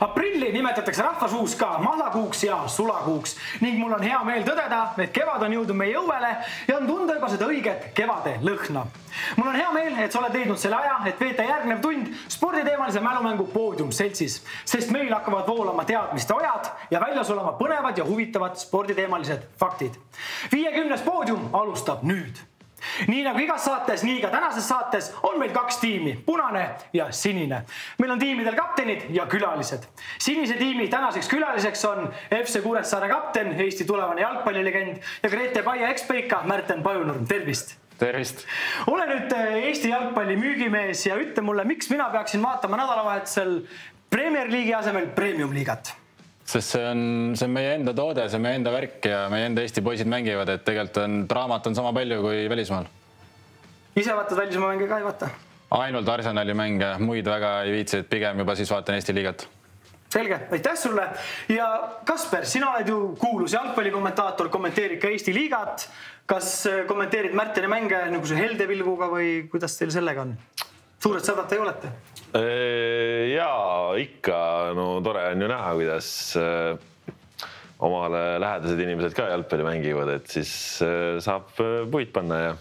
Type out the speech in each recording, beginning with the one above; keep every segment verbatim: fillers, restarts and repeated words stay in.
Aprilli nimetatakse rahvasuus ka mahlakuuks ja sulakuuks ning mul on hea meel tõdeda, et kevad on jõudnud meie õuele ja on tunda juba seda õiget kevade lõhna. Mul on hea meel, et sa oled leidnud selle aja, et veeta järgnev tund sporditeemalise mälumängu Podium seltsis, sest meil hakkavad voolama teadmiste ojad ja väljas olema põnevad ja huvitavad sporditeemalised faktid. viiekümnes Podium alustab nüüd. Nii nagu igas saates, nii ka tänases saates on meil kaks tiimi, punane ja sinine. Meil on tiimidel kaptenid ja külalised. Sinise tiimi tänaseks külaliseks on F C Kuressaare kapten, Eesti tulevane jalgpallilegend ja Grete Paia ekspeika Märten Pajunurm. Tervist! Tervist! Ole nüüd Eesti jalgpalli müügimees ja ütle mulle, miks mina peaksin vaatama nädalavahetusel Premier League'i asemel Premium liigat? Sest see on, see on meie enda toode, see on meie enda värk ja meie enda Eesti poisid mängivad, et tegelikult on draamat on sama palju kui välismaal. Ise vaatad välismaa mänge ka ei vaata? Ainult Arsenali mänge, muid väga ei viitsi, et pigem juba siis vaatan Eesti liigat. Selge, aitäh sulle. Ja Kasper, sina oled ju kuulus jalgpallikommentaator, kommenteerid ka Eesti liigat. Kas kommenteerid Märteni mänge nagu see heldevilguga või kuidas teil sellega on? Suured sõbrad te ei olete? Jaa, ikka, no tore on ju näha, kuidas omale lähedased inimesed ka jalgpalli mängivad, et siis saab puid panna ja,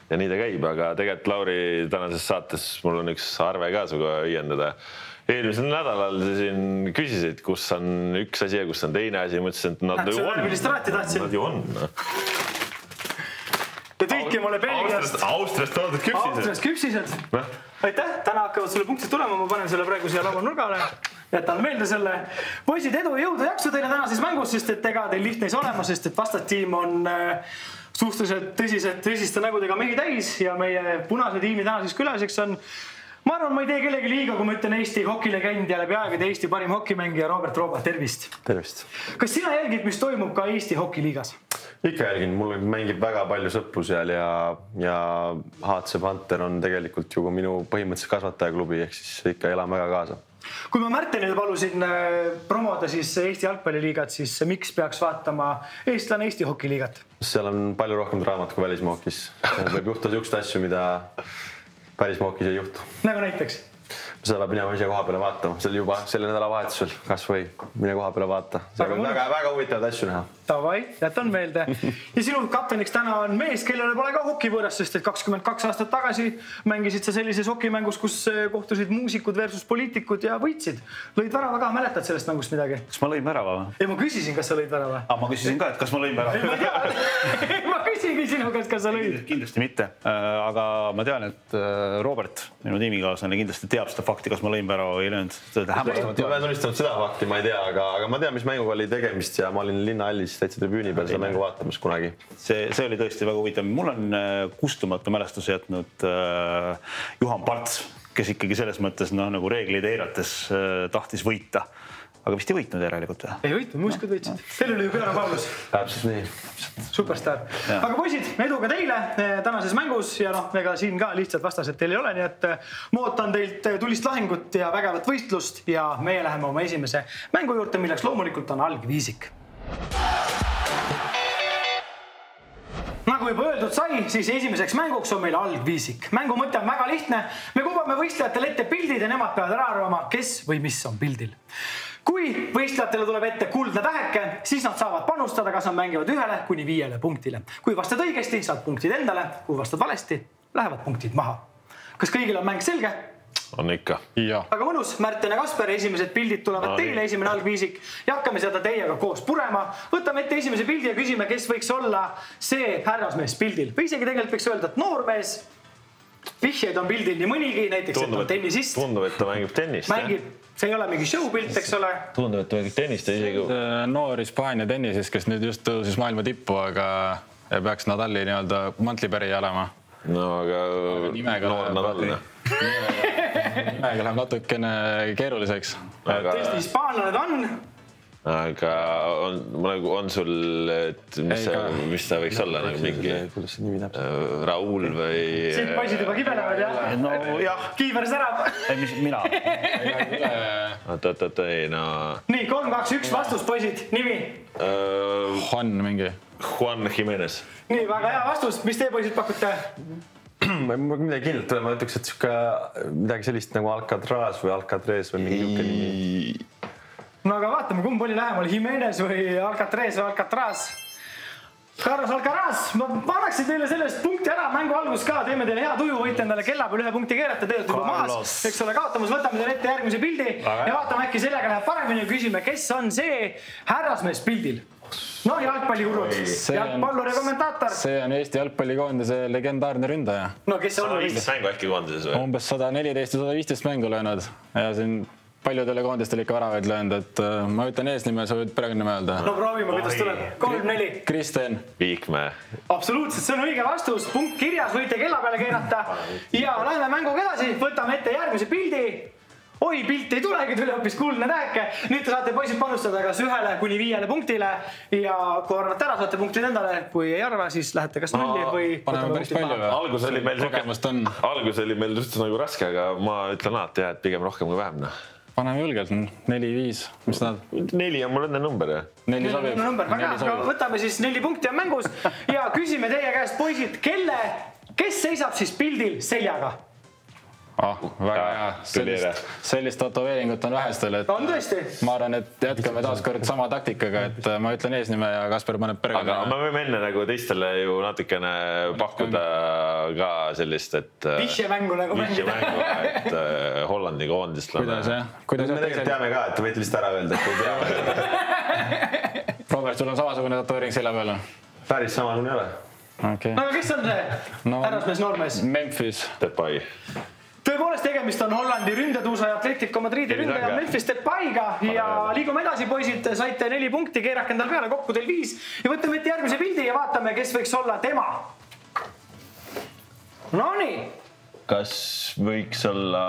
ja nii ta käib, aga tegelikult Lauri tänases saates mul on üks arve ka suga õiendada. Eelmisel nädalal siin küsisid, kus on üks asi ja kus on teine asi, mõtlesin, et nad ju on. Nad ju on. Te tõike mulle Belgiast. Austriast toodud küpsised. Austriast küpsised. Aitäh, täna hakkavad sulle punktid tulema, ma panen selle praegu siia laua nurgale. Jätan meelde selle. Poisid, edu ja jõudu jaksu teile tänases mängus, sest et ega teil lihtne ei ole olema, sest et vastastiim on suhteliselt tõsiselt tõsiste nägudega mehi täis ja meie punase tiimi tänaseks külaliseks on, ma arvan, ma ei tee kellegi liiga, kui ma ütlen Eesti hokilegend ja läbi aegade Eesti parim hokimängija Robert Rooba. Tervist! Tervist! Kas sina jälgid, mis toimub ka Eesti hokiliigas? Ikka jälgin, mul mängib väga palju sõpru seal ja, ja H C Panther on tegelikult ju minu põhimõtteliselt kasvatajaklubi, ehk siis ikka elan väga kaasa. Kui ma Märtenil palusin promoda siis Eesti jalgpalliliigat, siis miks peaks vaatama eestlane Eesti hokiliigat? Seal on palju rohkem draamat kui välismaokis. Võib juhtuda niisugust asju, mida välismaokis ei juhtu. Nagu näiteks? Seda peab minema ise koha peale vaatama. See oli juba selle nädala vahetusel, kas või mine koha peale vaata. See on väga, väga huvitavad asju näha. Tavai, jätan meelde. Ja sinu kapteniks täna on mees, kellele pole ka hokivõõras, sest et kakskümmend kaks aastat tagasi mängisid sa sellises hokimängus, kus kohtusid muusikud versus poliitikud ja võitsid. Lõid värava ka, mäletad sellest mängust midagi? Kas ma lõin värava? Ei, ma küsisin, kas sa lõid värava. Ah, ma küsisin ka, et kas ma lõin värava. Ei, ma tean. Ma küsingi sinu, kas, kas sa lõid. Kindlasti mitte. Aga ma tean, et Robert, minu tiimikaaslane, kindlasti teab seda fakti, kas ma lõin värava või ei löönud. Ma olen tunnistanud seda fakti, ma ei tea, aga, aga ma tean, mis mänguga oli tegemist ja ma olin linnahallis täitsa tribüüni peal seda mängu vaatamas kunagi. See, see oli tõesti väga huvitav. Mul on kustumatu mälestus jätnud äh, Juhan Parts, kes ikkagi selles mõttes no, nagu reegleid eirates äh, tahtis võita. Aga vist ei võitnud järelikult või? Ei võitnud, muusikud võitsid. Teil oli ju Björn Paulus. Täpselt nii. Superstar. Ja. Aga poisid, edu ka teile tänases mängus ja noh, ega siin ka lihtsalt vastased teil ei ole, nii et ma ootan teilt tulist lahingut ja vägevat võistlust ja meie läheme oma esimese mängu juurde, milleks loomulikult on algviisik. Nagu juba öeldud sai, siis esimeseks mänguks on meil algviisik. Mängu mõte on väga lihtne. Me kubame võistlejatele ette pildid ja nemad peavad ära arvama, kes või mis on pildil. Kui võistlejatele tuleb ette kuldne täheke, siis nad saavad panustada, kas nad mängivad ühele kuni viiele punktile. Kui vastad õigesti, saad punktid endale. Kui vastad valesti, lähevad punktid maha. Kas kõigil on mäng selge? On ikka. Ja. Aga mõnus, Märten ja Kasper, esimesed pildid tulevad no, teile, esimene algviisik. Ja hakkame seda teiega koos purema. Võtame ette esimese pildi ja küsime, kes võiks olla see härrasmees pildil. Või isegi tegelikult võiks öelda, et noormees. Vihjeid on pildil nii mõnigi, näiteks tundub, et on tennisist. Tundub, et ta mängib tennist. Mängib, see ei ole mingi showpilt, eks ole. Tundub, et ta mängib tennist. Isegi... Noor Hispaania tennises, kes nüüd just tõusis maailma tippu, aga peaks Nadali nii-öelda mantlipäri olema. No, aga, aga nimega noor Nadal. Nimega läheb natukene keeruliseks. Aga... Tõesti, hispaanlane ta on. Aga on, on sul, et mis, see, mis ta võiks olla? Nagu mingi Raul või... Siit poisid juba kibelevad, jah? No jah. Kiiver särab. Ei, mis mina? Oot, oot, oot, ei, no... Nii, kolm, kaks, üks vastus, poisid. Nimi? Juan mingi. Juan Jimenez. Nii, väga hea vastus. Mis te poisid pakute? Ma ei midagi kindlalt tule, ma ütleks, et midagi sellist nagu Alcatraz või Alcatrez või mingi niuke nimi. no aga vaatame, kumb oli lähemal, Jimenez või Alcatrez või Alcatraz. Carlos Alcaraz, ma annaksin teile sellest punkti ära, mängu algus ka, teeme teile hea tuju, võite endale kella peal ühe punkti keerata, tegelikult juba maas, eks ole, kaotamas, võtame teile ette järgmise pildi ja vaatame, äkki sellega läheb paremini ja küsime, kes on see härrasmees pildil. No jalgpallihurud, jalgpallur ja kommentaator. See on Eesti jalgpallikoondise legendaarne ründaja. No kes on? sada viisteist mängu äkki koondises või? Umbes sada neliteist ja sada viisteist mängu löönud ja siin paljudele koondistele ikka väravaid löönud, et ma ütlen eesnime, sa võid perekonnime öelda. No proovime, kuidas tuleb. kolm neli. Kristen. Viikmäe. Absoluutselt, see on õige vastus. Punkt kirjas, võite kella peale keerata. Ja läheme mänguga edasi, võtame ette järgmise pildi. Oi, pilt ei tulegi, tuli hoopis kuldne täheke. Nüüd te saate poisid panustada kas ühele kuni viiele punktile ja kui arvate ära, saate punktid endale. Kui ei arva, siis lähete kas nulli või... Paneme päris palju või? Algus oli meil, algus oli meil just nagu raske, aga ma ütlen alati jah, et pigem rohkem kui vähem. Paneme julgelt, neli viis, mis nad? Neli on mul enne number, jah? Neli sobib. Väga, võtame siis neli punkti on mängus ja küsime teie käest, poisid, kelle, kes seisab siis pildil seljaga? Ah, väga hea. Sellist, sellist tatoveeringut on vähestel, et on tõesti. Ma arvan, et jätkame taas kord sama taktikaga, et ma ütlen eesnime ja Kasper paneb perekonna. Aga me võime enne nagu teistele ju natukene pakkuda ka sellist, et... Vihjemängu nagu mängida. Vihjemängu, et Hollandi koondistlane. Kuidas, jah? Kuidas me tegelikult teame ka, et te võite lihtsalt ära öelda, et te teame. Robert, sul on samasugune tatoveering selja peal? Päris samasugune ei ole. Okay. No aga kes on see? Härrasmees, noormees? Memphis. Depay. Tõepoolest tegemist on Hollandi ründetuusa ja Atletico Madridi ründaja Memphis Depayga ja liigume edasi, poisid, saite neli punkti, keerake endal peale, kokku teil viis ja võtame ette järgmise pildi ja vaatame, kes võiks olla tema. Nonii. Kas võiks olla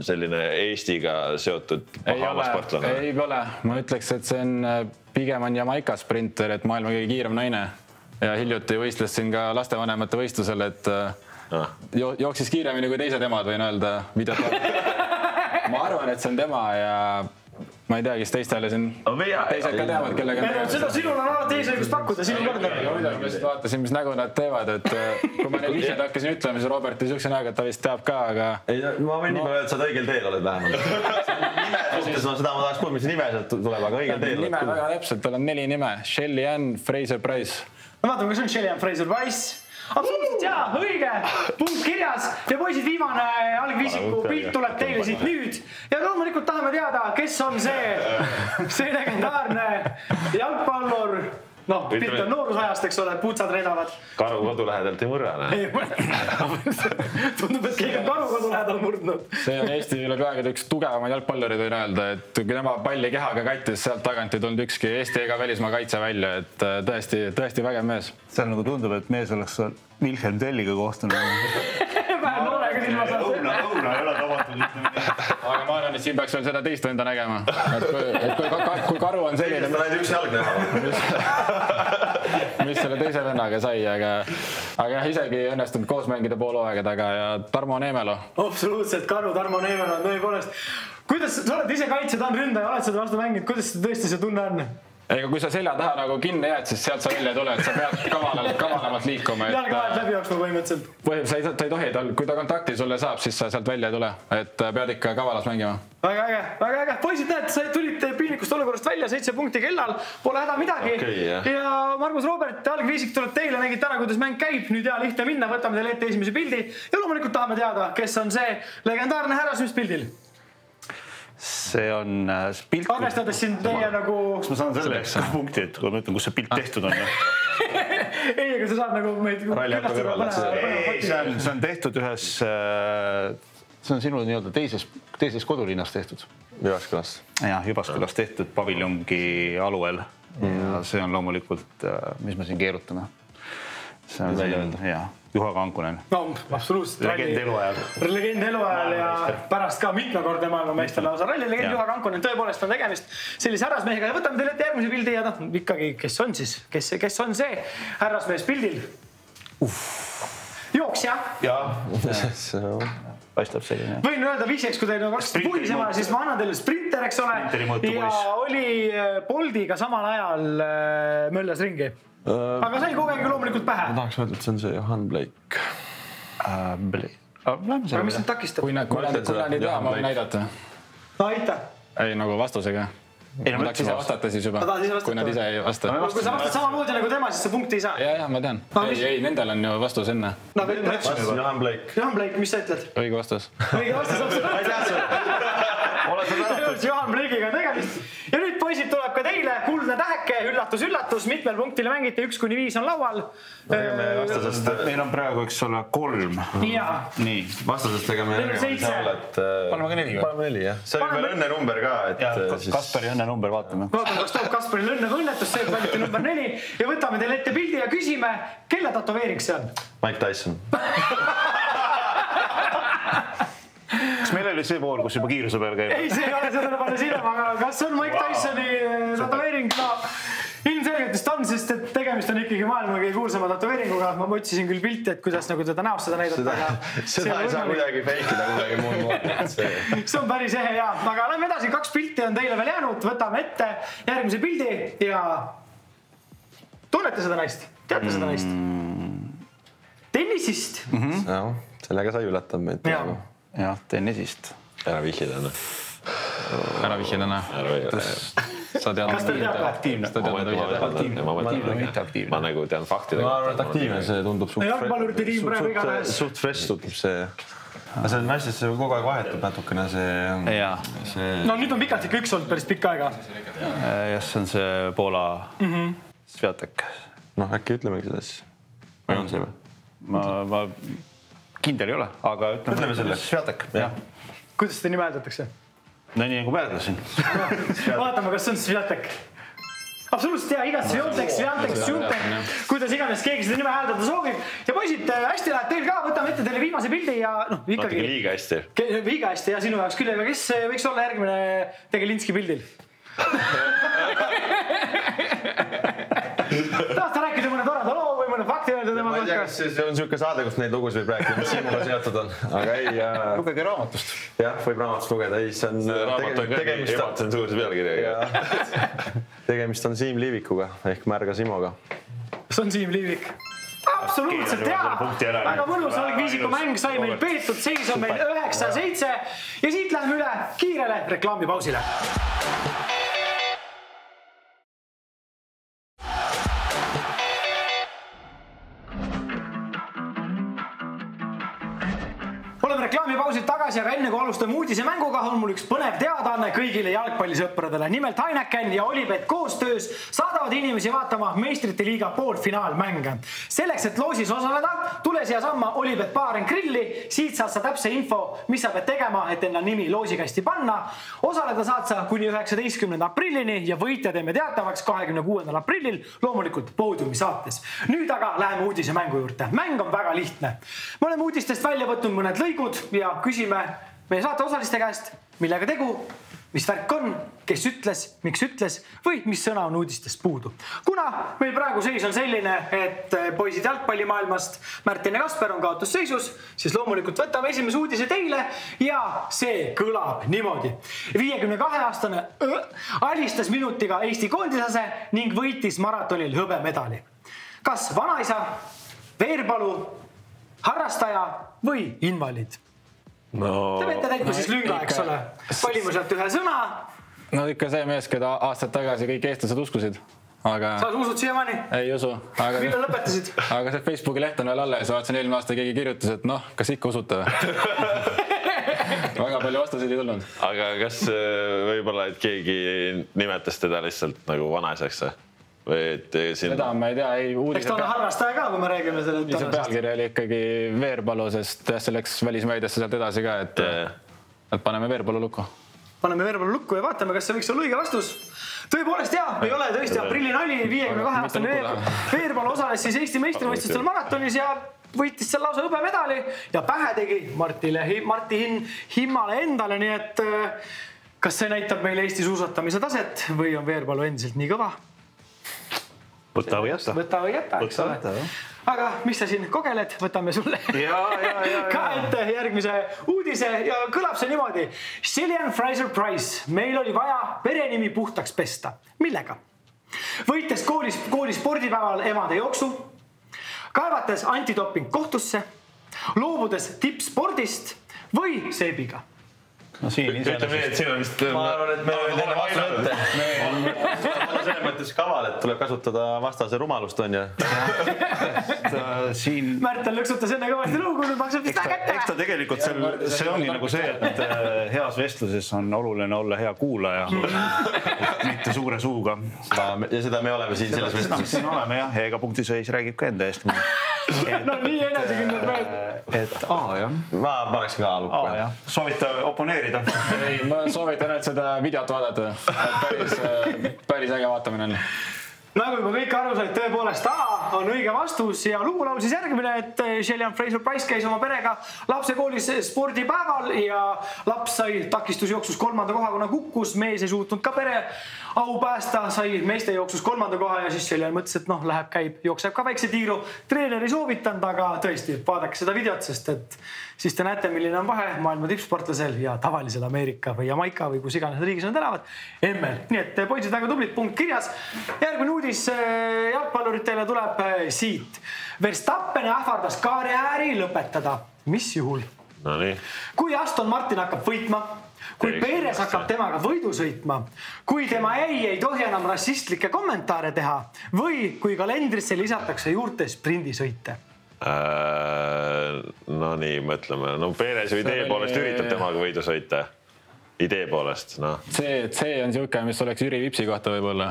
selline Eestiga seotud sportlane? Ei ole, ma ütleks, et see on pigem on Jamaica sprinter, et maailma kõige kiirem naine ja hiljuti võistles siin ka lastevanemate võistlusel, et Ah. Jo jooksis kiiremini kui teised emad, võin öelda videot. Ma arvan, et see on tema ja ma ei tea, kes teistele siin teised ka teavad, kellega... Seda sinul on alati eesõigus pakkuda, sinu korda. Ma vaatasin, mis nägu nad teevad, et kui ma neid vihjad hakkasin ütlema, siis Robert oli siukse näoga, et ta vist teab ka, aga... Ei, ma võin nii palju, et sa õigel teel oled vähemalt. Nime suhtes ma seda ma tahaks kuulda, mis nime sealt tuleb, aga õigel teel. Nime väga täpselt, tal on neli nime. Shelly Ann Fraser Price. No vaatame, kas on Shelly Ann Fraser Price. Absoluutselt jaa, õige, punkt kirjas ja poisid, viimane algviisiku pilt tuleb teile siit nüüd ja loomulikult tahame teada, kes on see, see legendaarne jalgpallur, noh, pilt on noorusajast, eks ole, puutsad reedavad. Karu kodu lähedalt ei murra, näe. Tundub, et keegi on karu kodu lähedal murdnud. See on Eesti üle peaaegu üks tugevamaid jalgpallurid võin öelda, et kui tema palli kehaga kattis, sealt tagant ei tulnud ükski Eesti ega välismaa kaitse välja, et tõesti, tõesti vägev mees. See nagu tundub, et mees oleks Wilhelm Telliga kohtunud. Vähe noolega silma saada. Õuna, õuna ei ole tabatud, ütleme nii. Aga ma arvan, et siin peaks veel seda teist venda nägema. Et kui, et kui, kui karu on selline... Ma lähen üks jalg näha. Mis selle teise vennaga sai, aga, aga jah, isegi õnnestunud koos mängida pool hooaega taga ja Tarmo Neemelo. Absoluutselt, karu Tarmo Neemelo on tõepoolest. Kuidas sa oled ise kaitse, ta on ründaja, oled seda vastu mänginud, kuidas tõesti see tunne on? Ega kui sa selja taha nagu kinni jääd, siis sealt sa välja ei tule, et sa pead kavalalt, kavalamalt liikuma. Jalga vahet läbi jooksma põhimõtteliselt. Sa ei, sa ei tohi, kui ta kontakti sulle saab, siis sa sealt välja ei tule, et pead ikka kavalas mängima. Väga äge, väga äge. Poisid, näed, sa tulid piinlikust olukorrast välja, seitse punkti kellal, pole häda midagi. Okay, yeah. Ja Margus Robert, algviisik tuleb teile, nägite ära, kuidas mäng käib. Nüüd hea lihtne minna, võtame teile ette esimese pildi ja loomulikult tahame teada, kes on see legendaarne härrasmispildil. See on pilt... Arvestades siin teie nagu... Kas ma saan selleks punkti, et kui ma ütlen, kus see pilt tehtud on? Ei, aga sa saad nagu meid... See on tehtud ühes... See on sinu nii-öelda teises, teises kodulinnas tehtud. Jyvaskylas. Jah, Jyvaskylas tehtud paviljongi aluel. Ja see on loomulikult, mis me siin keerutame. See on see, jah. Juha Kankunen. No, absoluutselt. Legend eluajal. Legend eluajal ja pärast ka mitmekordne maailma meestele lausa ralli legend Juha Kankunen. Tõepoolest on tegemist sellise härrasmehega. Ja võtame teile ette järgmise pildi ja noh, ikkagi, kes on siis? Kes, kes on see härrasmees pildil? Jooksja. Jaa. Paistab selline. Võin öelda vihjeks, kui teil on kaks puhisema, siis ma annan teile sprinter, eks ole. Ja oli Boldiga samal ajal möllas ringi. Aga sai kogegi loomulikult pähe. Ma tahaks öelda, et see on see Johan Blake. Aga mis nüüd takistab? Kui nad ei tea, ma võin näidata. No aita. Ei, nagu vastusega. ma tahaks ise vastata siis juba, kui nad ise ei vasta. Kui sa vastad samamoodi nagu tema, siis sa punkti ei saa. Ja, ja, ma tean. Ei, ei, nendel on ju vastus enne. Johan Blake. Johan Blake, mis sa ütled? Õige vastus. Õige vastus, absoluutselt. Johan Blake'iga tegemist. Ja nüüd poisid tuleb ka teile kuldne täheke, üllatus, üllatus, mitmel punktile mängite, üks kuni viis on laual. Meil on praegu, eks ole, kolm. Nii. Vastasest tegeme seitse. Paneme ka neli. Paneme neli, jah. See oli veel õnne number ka. Kasperi õnne number, vaatame. Vaatame, kas toob Kasperil õnne või õnnetus, see valiti number neli. Ja võtame teile ette pildi ja küsime, kelle tatoveering see on? Mike Tyson. Kas meil oli see pool, kus juba kiiruse peal käib? Ei, see ei ole seda palju silma, aga kas on Mike Tysoni tatoveering? No, ilmselgelt on, sest et tegemist on ikkagi maailma kõige kuulsama tatoveeringuga. Ma otsisin küll pilti, et kuidas nagu teda näost seda näidata. Seda ei saa kuidagi feikida kuidagi muud moodi. See on päris ehe, jaa. Aga lähme edasi, kaks pilti on teile veel jäänud. Võtame ette järgmise pildi ja tunnete seda naist? Teate seda naist? Tennisist. Sellega sai üllatab meid. Jah, tennisist. Ära vihjida, noh. Ära vihjida, noh. Sa tead, kas ta teab aktiivne? Ma nagu tean faktidega. Ma arvan, et aktiivne, see tundub suht fresh tundub see. Aga see naistest see kogu aeg vahetub natukene see... No nüüd on pikalt ikka üks olnud päris pikka aega. Jah, see on see Poola Sviatek. Noh, äkki ütlemegi seda siis. Või on see või? Ma kindel ei ole, aga ütleme selle. Sviatek. Kuidas seda nime hääldatakse? No nii nagu päädlasin. Vaatame, kas on Sviatek. Absoluutselt hea, igat Sviontek, Sviantek, Sviantek, kuidas iganes keegi seda nime hääldada soovib. Ja poisid, hästi läheb teil ka, võtame ette teile viimase pildi ja noh, ikkagi... Natuke liiga hästi. Liiga hästi ja sinu jaoks küll, aga kes võiks olla järgmine Tegelinski pildil? Tahad sa rääkida mõne toreda loo või mõne fakti öelda tema kohta? Ma ei tea, kas see on siuke saade, kus neid lugusid võib rääkida, mis Siimuga seotud on. Aga ei... Lugege raamatust. Jah, võib raamatust lugeda. Ei, see on... Raamat on kõige ebatsensuurse pealkirjaga. Tegemist on Siim Liivikuga ehk Märga Simoga. See on Siim Liivik. Absoluutselt hea. Väga mõnus algviisiku mäng sai meil peetud. Seis on meil üheksa seitse. Ja siit läheme üle kiirele reklaamipausile. Oleme reklaamipausid tagasi, aga enne kui alustame uudise mänguga, on mul üks põnev teadaanne kõigile jalgpallisõpradele. Nimelt Heineken ja Olipet koostöös saadavad inimesi vaatama meistrite liiga poolfinaalmänge. Selleks, et loosis osaleda, tule siia samma Olipet Baaren Grilli. Siit saad sa täpse info, mis sa pead tegema, et enda nimi loosikasti panna. Osaleda saad sa kuni üheksateistkümnenda aprillini ja võitja teeme teatavaks kahekümne kuuendal aprillil loomulikult poodiumi saates. Nüüd aga läheme uudise mängu juurde. Mäng on väga lihtne. Me oleme uudistest välja võtnud mõned lõigud ja küsime meie saate osaliste käest, millega tegu, mis värk on, kes ütles, miks ütles või mis sõna on uudistest puudu. Kuna meil praegu seis on selline, et poisid jalgpallimaailmast Märtin ja Kasper on kaotusseisus, siis loomulikult võtame esimese uudise teile ja see kõlab niimoodi. viiekümne kahe aastane alistas minutiga Eesti koondisase ning võitis maratonil hõbemedali. Kas vanaisa, Veerpalu, harrastaja või invaliid? No, Te peate täitma siis lünga, eks ole. Valime sealt ühe sõna. No ikka see mees, keda aastad tagasi kõik eestlased uskusid. Aga... Sa usud siiamaani? Ei usu. Aga... Millal lõpetasid? Aga see Facebooki leht on veel alla ja vaatasin eelmine aasta keegi kirjutas, et noh, kas ikka usute või? Väga palju vastuseid ei tulnud. Aga kas võib-olla, et keegi nimetas teda lihtsalt nagu vanaisaks või? Siin... Seda ma ei tea, ei uudise... Eks ta on harrastaja ka, kui me räägime selle tänasest. Pealkiri oli ikkagi Veerpalu, sest see läks välismeediasse sealt edasi ka, et, et paneme Veerpalu lukku. Paneme Veerpalu lukku ja vaatame, kas see võiks olla õige vastus. Tõepoolest jah, ei ole tõesti aprilli nali, viiekümne kahe aastane Veerpalu osales siis Eesti meistrivõistlustel maratonis ja võitis seal lausa hõbemedali ja pähe tegi Martile, Marti Himmale endale, nii et kas see näitab meile Eesti suusatamise taset või on Veerpalu endiselt nii kõva? Võta või jätta. Võta või jätta, eks ole. Aga mis sa siin kogeled, võtame sulle ja, ja, ja, ka ette järgmise uudise ja kõlab see niimoodi. Cillian Fraser-Price, meil oli vaja perenimi puhtaks pesta. Millega? Võites koolis, kooli spordipäeval emade jooksu, kaevates antidoping kohtusse, loobudes tippspordist või seebiga? No siin ütleme nii, et siin on vist... Ma arvan, et me oleme enne vastu ette. Ma selles mõttes kaval, et tuleb kasutada vastase rumalust, on ja? Siin... Märtel lõksutas enne kõvasti lugu, nüüd maksab vist ta kätte. Eks ta tegelikult see ongi nagu see, et heas vestluses on oluline olla hea kuulaja, mitte suure suuga. Ja seda me oleme siin selles vestluses. Siin oleme jah, ja ega punktiseis räägib ka enda eest. No nii enesekindlad mehed. Et A, jah. Ma paneks ka A-lukku. A, jah. Soovita oponeerida? Ei, ma soovitan, et seda videot vaadata. Päris, päris äge vaatamine on. Nagu juba kõik aru said, tõepoolest A on õige vastus ja lugulaul siis järgmine, et Shelly Fraser-Price käis oma perega lapsekoolis spordipäeval ja laps sai takistusjooksus kolmanda koha, kuna kukkus, mees ei suutnud ka pere au päästa, sai meeste jooksus kolmanda koha ja siis Shelly mõtles, et noh, läheb, käib, jookseb ka väikse tiiru. Treener ei soovitanud, aga tõesti, vaadake seda videot, sest et siis te näete, milline on vahe maailma tippsportlasel ja tavalisel Ameerika või Jamaika või kus iganes riigis nad elavad. Emmel. Nii et poisid väga tublit, punkt kirjas. Järgmine uudis jalgpalluritele tuleb siit. Verstappen ähvardas karjääri lõpetada. Mis juhul? No nii. Kui Aston Martin hakkab võitma, kui Perez hakkab temaga võidu sõitma, kui tema ei ei tohi enam rassistlikke kommentaare teha või kui kalendrisse lisatakse juurde sprindisõite. No nii, mõtleme. No Perez ju idee poolest üritab temaga võidu sõita. Idee poolest, noh. See, see on siuke, mis oleks Jüri Vipsi kohta võib-olla.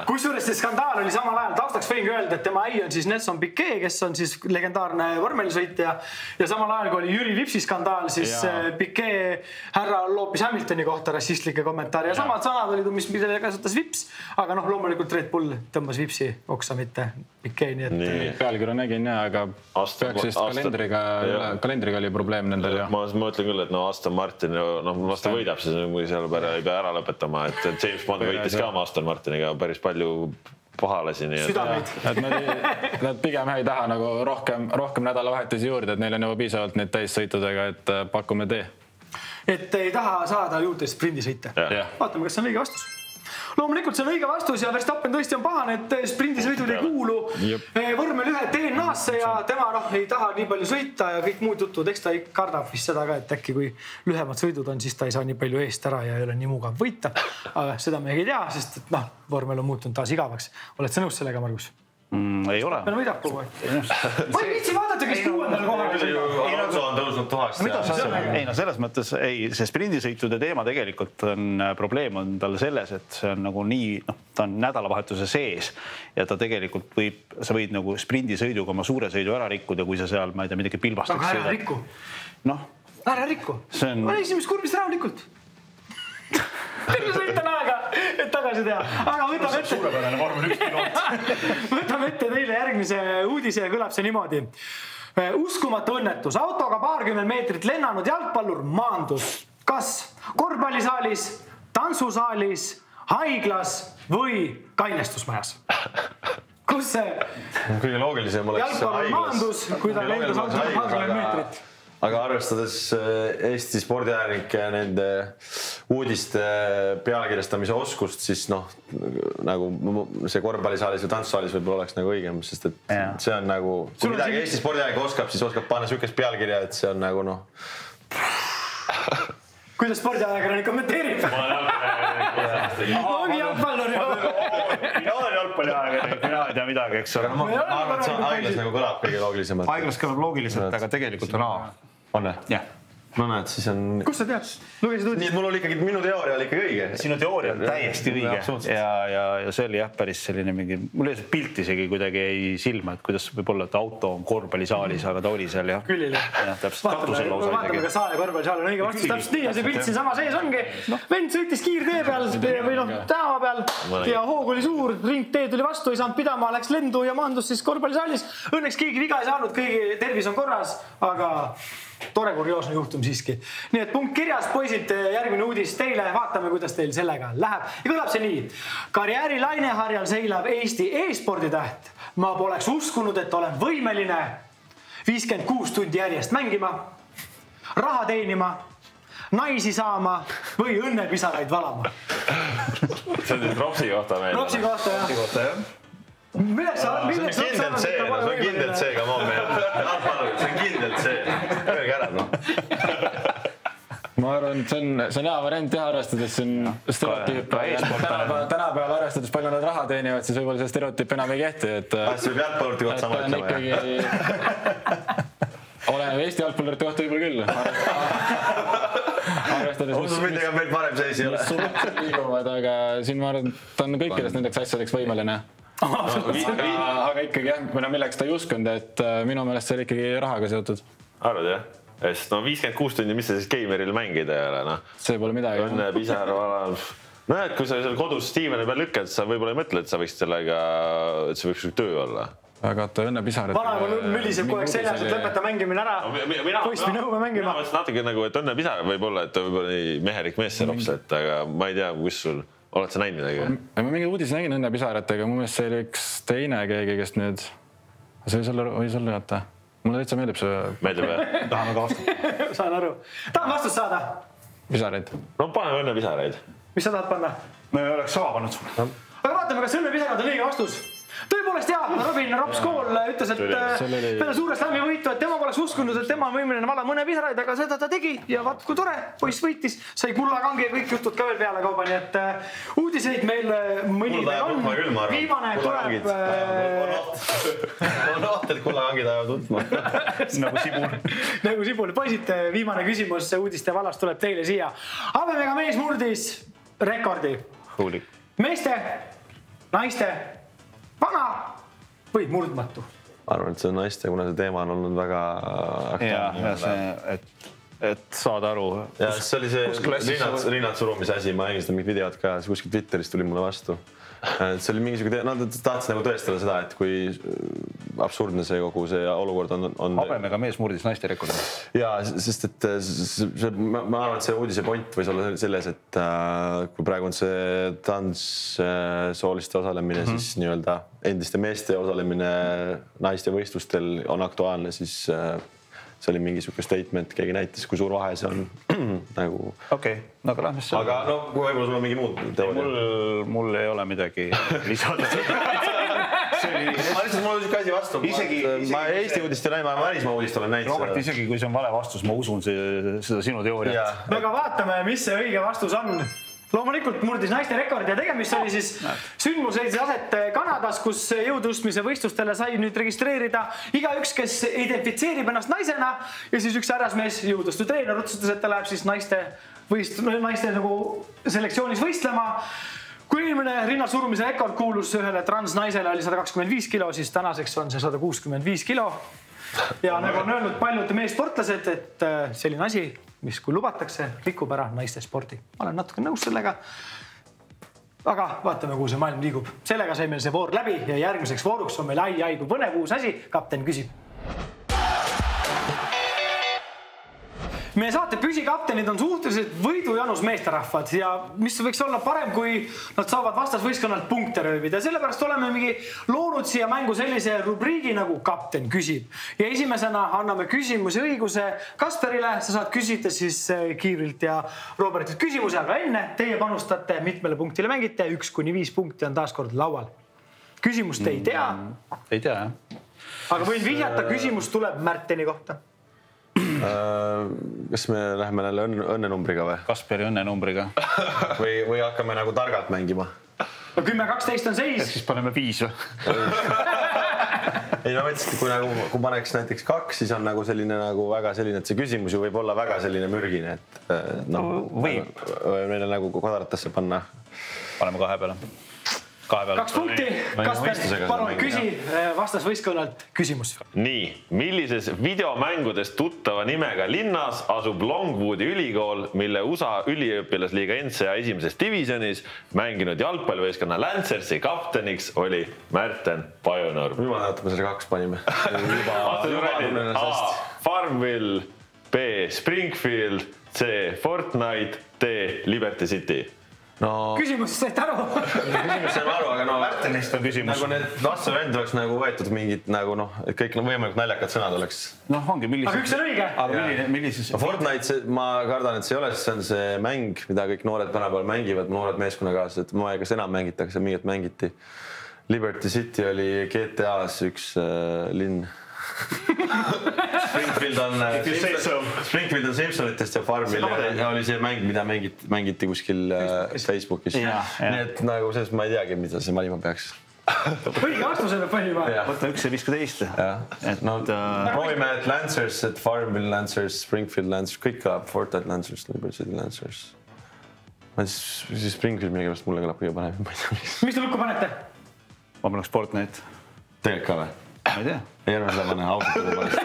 Kusjuures see skandaal oli samal ajal. Taustaks võin ka öelda, et tema ei on siis Nelson Piquet, kes on siis legendaarne vormelisõitja. Ja samal ajal, kui oli Jüri Vipsi skandaal, siis ja. Piquet härra loopis Hamiltoni kohta rassistlike kommentaari. Ja, ja samad sanad olid, mis mida kasutas Vips. Aga noh, loomulikult Red Bull tõmbas Vipsi oksa, mitte Piquet. Nii et... Nii. Pealkirja nägin, jah, aga Aston, peaks vist kalendriga, kalendriga oli probleem nendel. Ja. Ma, ma ütlen küll, et no Aston Martin no, vasta võidab see kui seal ei pea ära lõpetama, et James Bond võitis ka Aston Martiniga päris palju pahale siin. Südameid. Et nad, nad pigem ei taha nagu rohkem, rohkem nädalavahetusi juurde, et neil on juba piisavalt neid täissõitudega, et pakume tee. Et ei taha saada juurde sprindisõite. Vaatame, kas see on õige vastus. Loomulikult see on õige vastus ja Verstappen tõesti on pahane, et sprindisõidud ei kuulu vormel ühe D N A-sse ja tema noh, ei taha nii palju sõita ja kõik muud jutud. Eks ta ei kardab vist seda ka, et äkki kui lühemad sõidud on, siis ta ei saa nii palju eest ära ja ei ole nii mugav võita. Aga seda me ei tea, sest et noh, vormel on muutunud taas igavaks. Oled sa nõus sellega, Margus? Mm, ei ole. Meil võidab kogu aeg. Ma ei viitsi vaadata, kes kuuendal kohal Alonso on tõusnud tuhast. Ei no selles mõttes, ei, see sprindisõitude teema tegelikult on probleem on tal selles, et see on nagu nii, noh, ta on nädalavahetuse sees ja ta tegelikult võib, sa võid nagu sprindisõiduga oma suure sõidu ära rikkuda, kui sa seal, ma ei tea, midagi pilbastaks. Aga ära rikku. Noh. Ära rikku. On... Ma esimest kurbist rahulikult. Terve sõitan aega, et tagasi teha. Aga võtame ette. Suurepärane vormel üks piloot. Võtame ette teile järgmise uudise ja kõlab see niimoodi. Uskumatu õnnetus. Autoga paarkümmend meetrit lennanud jalgpallur maandus. Kas korvpallisaalis, tantsusaalis, haiglas või kainestusmajas? Kus see kõige loogilisem oleks jalgpallur maandus, kui ta lendas autoga paarkümmend meetrit? Aga arvestades Eesti spordiajalike ja nende uudiste pealkirjastamise oskust, siis noh, nagu see korvpallisaalis või tantsusaalis võib-olla oleks nagu õigem, sest et ja. See on nagu, kui Sul midagi siin... Eesti spordiajalik oskab, siis oskab panna sükest pealkirja, et see on nagu noh. Kuidas spordiajakirjanik kommenteerib? Ongi jalgpallur ju. Mina olen jalgpalliajakirjanik, mina ei tea midagi, eks ole. Ma arvan, et see haiglas nagu kõlab kõige loogilisemalt. Haiglas kõlab loogiliselt, aga tegelikult on A. On ne? Jah. No näed, siis on... Kus sa tead? Lugesid uudis? Nii, et mul oli ikkagi, minu teooria oli ikkagi õige. Sinu teooria on täiesti õige. Ja, ja, ja see oli jah, päris selline mingi... Mul oli see pilt isegi kuidagi ei silma, et kuidas võib olla, et auto on korvpallisaalis, aga ta oli seal jah. Küll oli. Ja, täpselt katusel lausa isegi. Vaatame, kas saal ja korvpallisaal on õige vastus. Täpselt nii ja see pilt siin sama sees ongi. Vend sõitis kiirtee peal või noh, tänava peal ja hoog oli suur, ringtee tuli vastu, ei saanud pidama, läks lendu ja maandus siis korvpallisaalis. Õnneks keegi viga ei saanud, kõigi tervis on korras, aga tore kurioosne juhtum siiski. Nii et punkt kirjas, poisid, järgmine uudis teile. Vaatame, kuidas teil sellega läheb. Ja kõlab see nii. Karjääri laineharjal seilab Eesti e-sporditäht. Ma poleks uskunud, et olen võimeline viiskümmend kuus tundi järjest mängima, raha teenima, naisi saama või õnnepisaraid valama. See on siis Ropsi kohta meil. Ropsi kohta, jah. Ropsi kohta, jah. Milleks sa... See on kindelt see, no see on kindelt see, ka ma meil. See on kindelt see. Öelge ära, noh. ma arvan, et see on, see on hea variant teha, arvestades siin stereotüüp. Tänapäeval arvestades palju nad raha teenivad, siis võib-olla see stereotüüp enam ei kehti. Kas võib jalgpallurite kohta sama ütlema? Olen Eesti jalgpallurite kohta võib-olla küll. Arvestades, mis midagi meil parem seis ei ole. Liiguvad, aga siin ma arvan, ta on kõikidest nendeks asjadeks võimeline. Aga ikkagi jah, milleks ta ei uskunud, et minu meelest see oli ikkagi rahaga seotud. Arvad jah? Sest no viiskümmend kuus tundi, mis sa siis gameril mängida ei ole, noh. See pole midagi. Õnne, pisar, vala. No et kui sa seal kodus Steven'i peal lükkad, sa võib-olla ei mõtle, et sa võiksid sellega, et see võiks töö olla. Aga ta õnne pisar. Vanaema mülliseb kogu aeg seljas, et lõpeta mängimine ära. Poist või nõume mängima. Mina mõtlesin natuke nagu, et õnne pisar võib olla, et võib-olla nii mehelik mees see rops, et aga ma ei tea, kus sul, oled sa näinud midagi? Ma mingi uudis nägin õnne pisaratega, mu meelest see oli üks teine keegi, kes nüüd, see võis olla jätta. Mulle täitsa meeldib see. Meeldib jah? Tahame ka vastata. Saan aru. Tahan vastust saada. Pisareid. No paneme õnne pisareid. Mis sa tahad panna? Me oleks sama pannud. Aga vaatame, kas õnne pisarad on õige vastus. Tõepoolest jah, Robin Rops-Kool ütles, et peale suure slammi võitu, et tema poleks uskunud, et tema on võimeline vala mõne pisaraid, aga seda ta tegi ja vaat kui tore, poiss võitis, sai kullakangi ja kõik jutud ka veel peale kauba, nii et uudiseid meil mõni meil on. Viimane tuleb... On oht, et kullakangid ajavad utma. Nagu Sibul. Nagu Sibul. Poisid, viimane küsimus uudiste valast tuleb teile siia. Habemega mees murdis rekordi. Meeste, naiste, vana või murdmatu? Arvan, et see on naiste, kuna see teema on olnud väga aktuaalne. Ja see, et, et saada aru. Ja see oli see rinnad, rinnad surumise asi, ma nägin seda mingit videot ka, kuskil Twitteris tuli mulle vastu. See oli mingisugune, no ta tahtis nagu tõestada seda, et kui absurdne see kogu see olukord on. on... Habemega mees murdis naiste rekordi. Ja, sest et see, ma arvan, et see uudise point võis olla selles, et kui praegu on see trans sooliste osalemine, mm-hmm. siis nii-öelda endiste meeste osalemine naiste võistlustel on aktuaalne, siis see oli mingisugune statement, keegi näitas, kui suur vahe see on nagu... Okei, no aga lähme selle. Aga no, kui võib-olla sul on mingi muud teooria. Mul, mul ei ole midagi lisada. Ma lihtsalt, mul on asi vastu. Isegi, ma Eesti uudist ei näi, ma välismaa uudist olen näinud. Robert, isegi kui see on vale vastus, ma usun see, seda sinu teooriat. No aga vaatame, mis see õige vastus on. Loomulikult murdis naiste rekord ja tegemist oli siis sündmus leidis aset Kanadas, kus jõutõstmise võistlustele sai nüüd registreerida iga üks, kes identifitseerib ennast naisena ja siis üks härrasmees jõutõstu treener otsustas, et ta läheb siis naiste, võist, naiste nagu selektsioonis võistlema. Kui inimene rinnal surumise rekord kuulus ühele transnaisele oli sada kakskümmend viis kilo, siis tänaseks on see sada kuuskümmend viis kilo. Ja nagu on öelnud paljud meesportlased, et selline asi, mis kui lubatakse, rikub ära naiste spordi. Ma olen natuke nõus sellega. Aga vaatame, kuhu see maailm liigub. Sellega sai meil see voor läbi ja järgmiseks vooruks on meil ai, ai, kui põnev uus asi. Kapten küsib. Meie saate püsikaptenid on suhteliselt võidujanus meesterahvad ja mis võiks olla parem, kui nad saavad vastasvõistkonnalt punkte röövida. Sellepärast oleme mingi loonud siia mängu sellise rubriigi nagu kapten küsib. Ja esimesena anname küsimuse õiguse Kasperile. Sa saad küsida siis Kiivrilt ja Robertilt küsimuse, aga enne teie panustate mitmele punktile mängite. Üks kuni viis punkti on taas kord laual. Küsimust ei tea. Ei tea, jah. Aga võin vihjata, küsimus tuleb Märteni kohta. Kas me läheme jälle õnnenumbriga või? Kasperi õnnenumbriga. Või, või hakkame nagu targalt mängima? No kümme kaksteist on seis. Siis paneme viis või? Ei, no mõtlesin, kui, nagu, kui paneks näiteks kaks, siis on nagu selline nagu väga selline, et see küsimus ju võib olla väga selline mürgine, et no, võib. Meile nagu kodaratesse panna. Paneme kahe peale. Kaks punkti. Kasper, palun küsi vastasvõistkonnalt küsimus. Nii, millises videomängudes tuttava nimega linnas asub Longwoodi ülikool, mille U S A üliõpilasliiga N C A esimeses divisionis mänginud jalgpallivõistkonna Lancersi kapteniks oli Märten Pajunurm. Nüüd ma näetab, me selle kaks panime. A. Farmville, B. Springfield, C. Fortnite, D. Liberty City. No, küsimus said aru. Küsimus saime aru, aga no Märtenist on küsimus. Nagu need vastusevend oleks nagu võetud mingid nagu noh, et kõik võimalikult naljakad sõnad oleks. Noh, ongi millises. Aga üks on õige. Aga milline, millises. Fortnite, ma kardan, et see ei ole, see on see mäng, mida kõik noored tänapäeval mängivad, noored meeskonnakaaslased. Ma ei kas enam mängitakse, mingit mängiti. Liberty City oli G T A-s üks äh, linn. Springfield on, Springfield on Simpsonitest ja Farmil oli see mäng, mida mängiti, mängiti kuskil Facebookis. Nii et nagu selles ma ei teagi, mida see valima peaks. Õige vastusele valima. Võta üks ja viiskümmend. No, proovime, et Lancers, et Farmville Lancers, Springfield Lancers, kõik kõlab, Fortnite Lancers, Liberty City Lancers. Ma siis Springfield millegipärast mulle kõlab kõige panem. Mis te lukku panete? Ma paneks Fortnite. Tegelikult ka või? Ma ei tea. Ei arva seda panna, ausalt või panest.